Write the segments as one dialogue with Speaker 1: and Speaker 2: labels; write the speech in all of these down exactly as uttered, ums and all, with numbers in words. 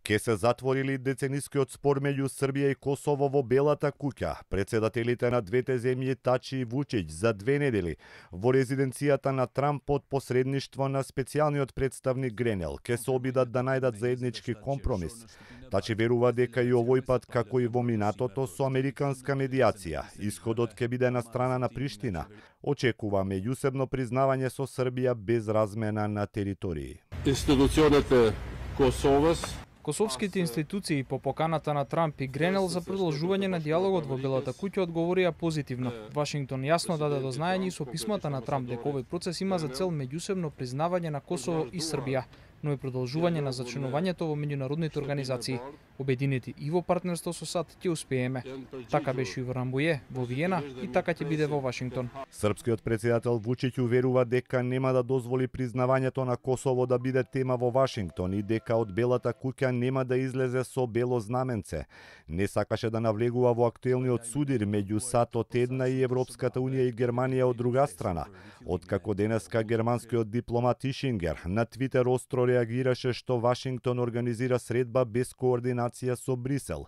Speaker 1: Ке се затвори ли деценискиот спор меѓу Србија и Косово во Белата куќа? Председателите на двете земји Тачи и Вучиќ за две недели во резиденцијата на Трамп под посредништво на специјалниот представник Гренел ке се обидат да најдат заеднички компромис. Тачи верува дека и овој пат, како и во минатото, со американска медијација, исходот ќе биде на страна на Приштина. Очекува меѓусебно признавање со Србија без размена на територии.
Speaker 2: Институционите Косовас
Speaker 3: Косовските институции по поканата на Трамп и Гренел за продолжување на диалогот во Белата куќа одговорија позитивно. Вашингтон јасно даде до знаење со писмата на Трамп дека овој процес има за цел меѓусебно признавање на Косово и Србија, но и продолжување на зачленувањето во меѓународните организации. Обединети и во партнерство со САД ќе успееме. Така беше и во Рамбује, во Виена и така ќе биде во Вашингтон.
Speaker 1: Српскиот председател Вучиќ уверува дека нема да дозволи признавањето на Косово да биде тема во Вашингтон и дека од Белата куќа нема да излезе со бело знаменце. Не сакаше да навлегува во актуелниот судир меѓу САД од една и Европската унија и Германија од друга страна. Откако денеска германскиот дипломат Ишингер на Твитер остро реагираше што Вашингтон организира средба без координација со Брисел.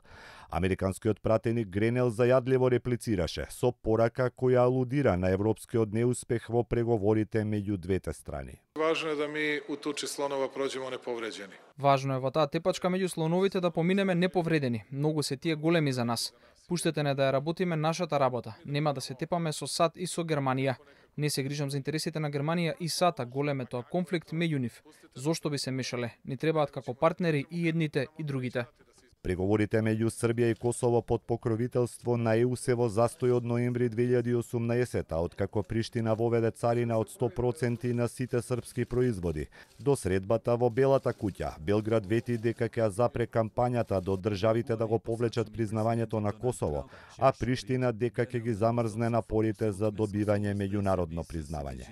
Speaker 1: Американскиот пратеник Гренел зајадливо реплицираше со порака која алудира на европскиот неуспех во преговорите меѓу двете страни.
Speaker 4: Важно е да ми у тучи слонова проđemo неповреđeni.
Speaker 3: Важно е во таа тепачка меѓу слоновите да поминеме неповредени. Многу се тие големи за нас. Пуштете не да ја работиме нашата работа. Нема да се тепаме со САД и со Германија. Не се грижам за интересите на Германија и САД, а голем е тоа конфликт меѓу нив. Зошто би се мешале? Ни требаат како партнери и едните и другите.
Speaker 1: Преговорите меѓу Србија и Косово под покровителство на ЕУ се во застој од ноември две илјади и осумнаесета, откако Приштина воведе царина од сто проценти на сите српски производи. До средбата во Белата куќа, Белград вети дека ќе запре кампањата до државите да го повлечат признавањето на Косово, а Приштина дека ќе ги замрзне напорите за добивање меѓународно признавање.